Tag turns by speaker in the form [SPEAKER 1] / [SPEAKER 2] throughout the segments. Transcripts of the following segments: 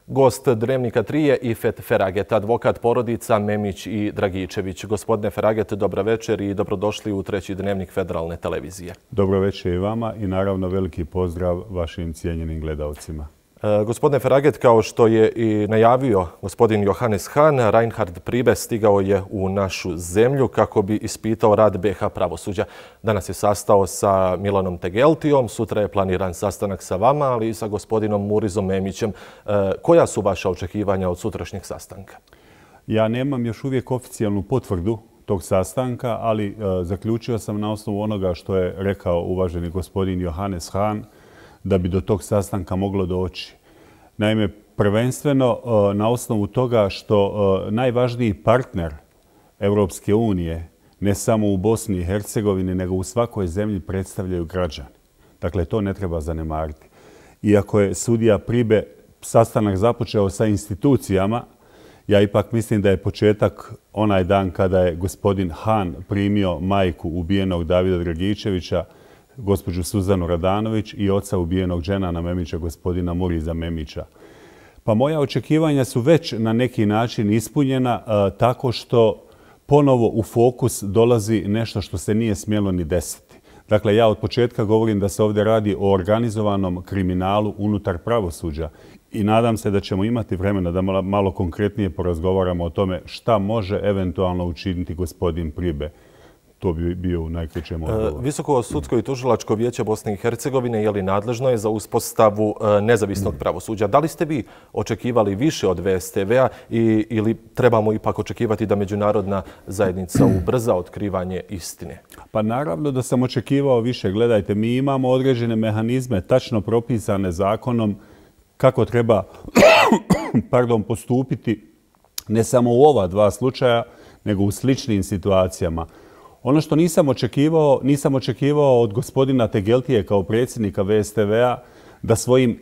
[SPEAKER 1] Gost Dnevnika 3 je Ifet Feraget, advokat porodica Memić i Dragičević. Gospodine Feraget, dobro večer i dobrodošli u treći Dnevnik Federalne televizije.
[SPEAKER 2] Dobro večer i vama i naravno veliki pozdrav vašim cijenjenim gledalcima.
[SPEAKER 1] Gospodine Feraget, kao što je i najavio gospodin Johannes Hahn, Reinhard Priebe stigao je u našu zemlju kako bi ispitao rad BiH pravosuđa. Danas je sastao sa Milanom Tegeltijom, sutra je planiran sastanak sa vama, ali i sa gospodinom Murizom Memićem. Koja su vaša očekivanja od sutrašnjeg sastanka?
[SPEAKER 2] Ja nemam još uvijek oficijalnu potvrdu tog sastanka, ali zaključio sam na osnovu onoga što je rekao uvaženi gospodin Johannes Hahn, da bi do tog sastanka moglo doći. Naime, prvenstveno na osnovu toga što najvažniji partner Europske unije, ne samo u Bosni i Hercegovini, nego u svakoj zemlji predstavljaju građani. Dakle, to ne treba zanemariti. Iako je sudija Priebe sastanak započeo sa institucijama, ja ipak mislim da je početak onaj dan kada je gospodin Hahn primio majku ubijenog Davida Dragičevića, gospođu Suzanu Radanović i oca ubijenog Dženana Memića, gospodina Muriza Memića. Pa moja očekivanja su već na neki način ispunjena tako što ponovo u fokus dolazi nešto što se nije smjelo ni desiti. Dakle, ja od početka govorim da se ovdje radi o organizovanom kriminalu unutar pravosuđa i nadam se da ćemo imati vremena da malo konkretnije porazgovaramo o tome šta može eventualno učiniti gospodin Priebe. To bi bio u najkraćem odgovoru.
[SPEAKER 1] Visoko sudsko i tužilačko vijeće Bosne i Hercegovine je li nadležno je za uspostavu nezavisnog pravosuđa. Da li ste vi očekivali više od VSTV-a ili trebamo ipak očekivati da međunarodna zajednica ubrza otkrivanje istine?
[SPEAKER 2] Pa naravno da sam očekivao više. Gledajte, mi imamo određene mehanizme tačno propisane zakonom kako treba postupiti ne samo u ova dva slučaja, nego u sličnim situacijama. Ono što nisam očekivao od gospodina Tegeltije kao predsjednika VSTV-a da svojim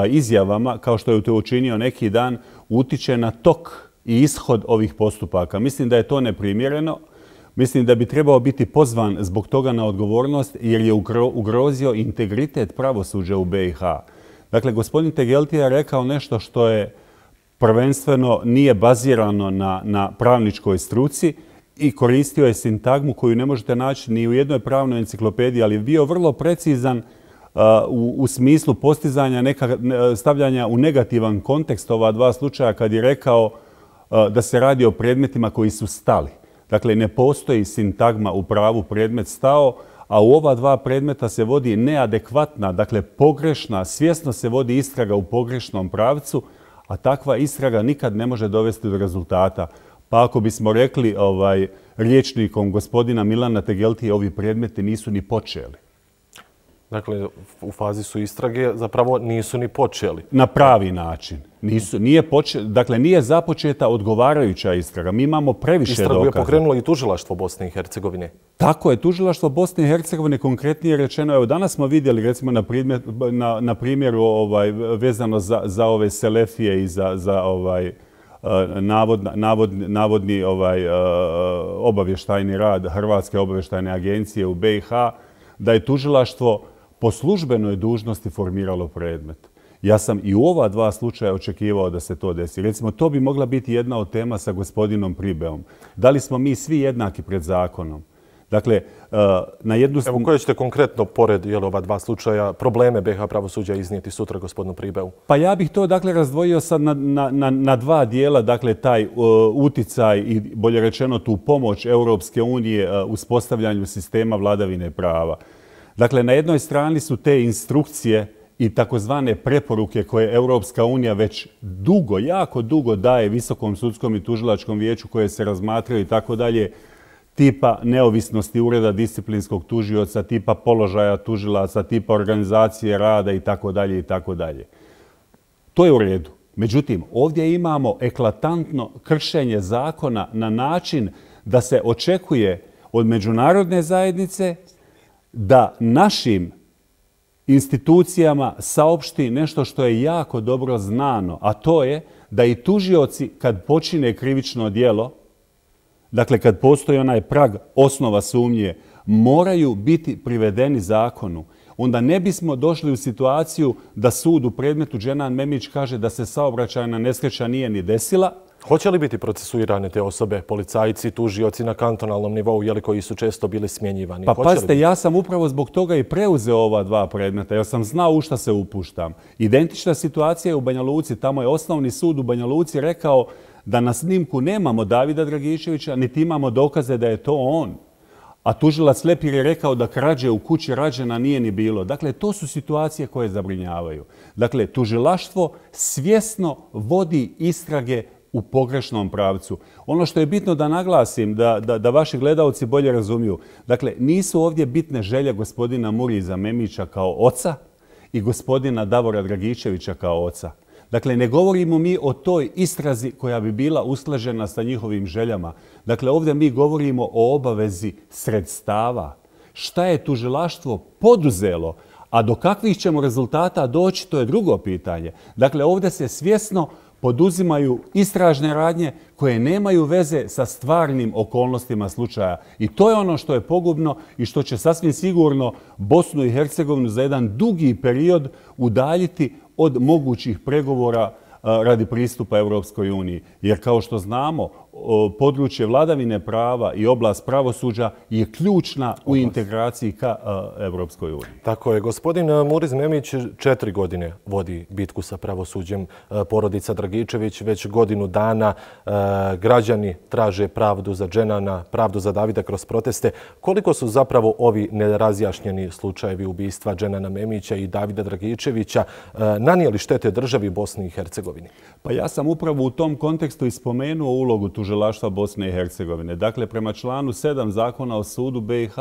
[SPEAKER 2] izjavama, kao što je to učinio neki dan, utiče na tok i ishod ovih postupaka. Mislim da je to neprimjereno. Mislim da bi trebao biti pozvan zbog toga na odgovornost jer je ugrozio integritet pravosuđa u BiH. Dakle, gospodin Tegeltije je rekao nešto što je prvenstveno nije bazirano na pravničkoj struci, i koristio je sintagmu koju ne možete naći ni u jednoj pravnoj enciklopediji, ali je bio vrlo precizan u smislu postizanja stavljanja u negativan kontekst ova dva slučaja kad je rekao da se radi o predmetima koji su stali. Dakle, ne postoji sintagma u pravu predmet stao, a u ova dva predmeta se vodi neadekvatna, dakle pogrešna, svjesno se vodi istraga u pogrešnom pravcu, a takva istraga nikad ne može dovesti do rezultata. Pa ako bismo rekli rječnikom gospodina Milana Tegeltije, ovi predmeti nisu ni počeli.
[SPEAKER 1] Dakle, u fazi su istrage, zapravo nisu ni počeli.
[SPEAKER 2] Na pravi način. Dakle, nije započeta odgovarajuća istraga. Mi imamo previše dokaza.
[SPEAKER 1] Istragu je pokrenulo i tužilaštvo Bosne i Hercegovine.
[SPEAKER 2] Tako je, tužilaštvo Bosne i Hercegovine konkretnije rečeno. Evo, danas smo vidjeli, recimo, na primjeru vezano za ove selefije i za navodni obavještajni rad Hrvatske obavještajne agencije u BiH, da je tužilaštvo po službenoj dužnosti formiralo predmet. Ja sam i u ova dva slučaja očekivao da se to desi. Recimo, to bi mogla biti jedna od tema sa gospodinom Priebeom. Da li smo mi svi jednaki pred zakonom? Dakle, na jednu...
[SPEAKER 1] Evo, koje ćete konkretno, pored ova dva slučaja, probleme BiH pravosuđa iznijeti sutra gospodinu Priebeu?
[SPEAKER 2] Pa ja bih to, dakle, razdvojio sad na dva dijela, dakle, taj uticaj i, bolje rečeno, tu pomoć Europske unije uspostavljanju sistema vladavine prava. Dakle, na jednoj strani su te instrukcije i takozvane preporuke koje Europska unija već dugo, jako dugo daje Visokom sudskom i tužilačkom vijeću koje se razmatraju i tako dalje, tipa neovisnosti ureda disciplinskog tužioca, tipa položaja tužilaca, tipa organizacije rada i tako dalje i tako dalje. To je u redu. Međutim, ovdje imamo eklatantno kršenje zakona na način da se očekuje od međunarodne zajednice da našim institucijama saopšti nešto što je jako dobro znano, a to je da i tužioci kad počine krivično djelo, dakle kad postoji onaj prag osnova sumnje, moraju biti privedeni zakonu. onda ne bismo došli u situaciju da sud u predmetu Dženan Memić kaže da se saobraćajna nesreća nije ni desila.
[SPEAKER 1] Hoće li biti procesuirane te osobe, policajci, tužioci na kantonalnom nivou, jeli koji su često bili smjenjivani?
[SPEAKER 2] Pa pazite, ja sam upravo zbog toga i preuzeo ova dva predmeta, jer sam znao u šta se upuštam. Identična situacija je u Banja Luci. Tamo je osnovni sud u Banja Luci rekao da na snimku nemamo Davida Dragičevića, niti imamo dokaze da je to on. A tužilac Lepir je rekao da krađe u kući rađena nije ni bilo. Dakle, to su situacije koje zabrinjavaju. Dakle, tužilaštvo svjesno vodi istrage u pogrešnom pravcu. Ono što je bitno da naglasim, da vaši gledalci bolje razumiju, dakle, nisu ovdje bitne želje gospodina Muriza Memića kao oca i gospodina Davora Dragičevića kao oca. Dakle, ne govorimo mi o toj istrazi koja bi bila usklađena sa njihovim željama. Dakle, ovdje mi govorimo o obavezi sredstava. Šta je tužilaštvo poduzelo, a do kakvih ćemo rezultata doći, to je drugo pitanje. Dakle, ovdje se svjesno poduzimaju istražne radnje koje nemaju veze sa stvarnim okolnostima slučaja. I to je ono što je pogubno i što će sasvim sigurno Bosnu i Hercegovinu za jedan dugi period udaljiti od mogućih pregovora radi pristupa Europskoj uniji. Jer kao što znamo, područje vladavine prava i oblast pravosuđa je ključna u integraciji ka Europskoj uniji.
[SPEAKER 1] Tako je. Gospodin Muriz Memić 4 godine vodi bitku sa pravosuđem. Porodica Dragičević već godinu dana. Građani traže pravdu za Dženana, pravdu za Davida kroz proteste. Koliko su zapravo ovi nerazjašnjeni slučajevi ubistva Dženana Memića i Davida Dragičevića nanijeli štete državi Bosni i Hercegovini?
[SPEAKER 2] Pa ja sam upravo u tom kontekstu i spomenuo ulogu tužilaštva Bosne i Hercegovine. Dakle, prema članu 7 Zakona o sudu BiH,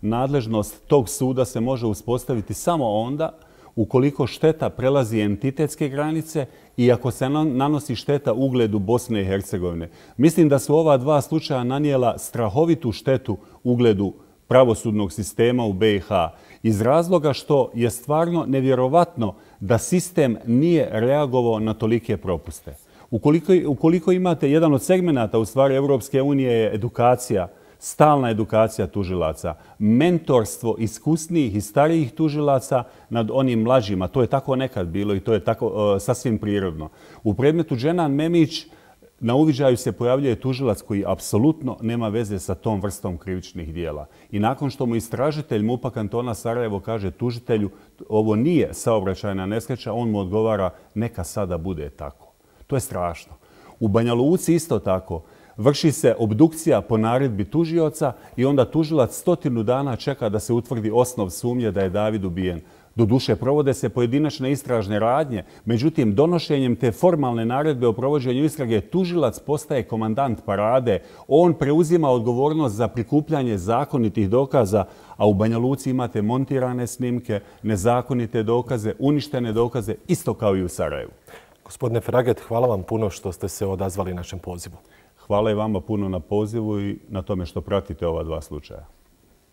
[SPEAKER 2] nadležnost tog suda se može uspostaviti samo onda ukoliko šteta prelazi entitetske granice i ako se nanosi šteta ugledu Bosne i Hercegovine. Mislim da su ova dva slučaja nanijela strahovitu štetu ugledu pravosudnog sistema u BiH iz razloga što je stvarno nevjerovatno da sistem nije reagovao na tolike propuste. Ukoliko imate jedan od segmenata u stvari Europske unije je edukacija, stalna edukacija tužilaca, mentorstvo iskusnijih i starijih tužilaca nad onim mlađima. To je tako nekad bilo i to je tako sasvim prirodno. U predmetu Dženan Memić na uviđaju se pojavljuje tužilac koji apsolutno nema veze sa tom vrstom krivičnih dijela. I nakon što mu istražitelj MUP-a kantona Sarajevo kaže tužitelju ovo nije saobraćajna nesreća, on mu odgovara neka sada bude tako. To je strašno. U Banja Luci isto tako. Vrši se obdukcija po naredbi tužioca i onda tužilac 100 dana čeka da se utvrdi osnov sumnje da je David ubijen. Doduše, provode se pojedinačne istražne radnje, međutim, donošenjem te formalne naredbe o provođenju istrage tužilac postaje komandant parade. On preuzima odgovornost za prikupljanje zakonitih dokaza, a u Banja Luci imate montirane snimke, nezakonite dokaze, uništene dokaze, isto kao i u Sarajevu.
[SPEAKER 1] Gospodine Fraget, hvala vam puno što ste se odazvali našem pozivu.
[SPEAKER 2] Hvala i vama puno na pozivu i na tome što pratite ova dva slučaja.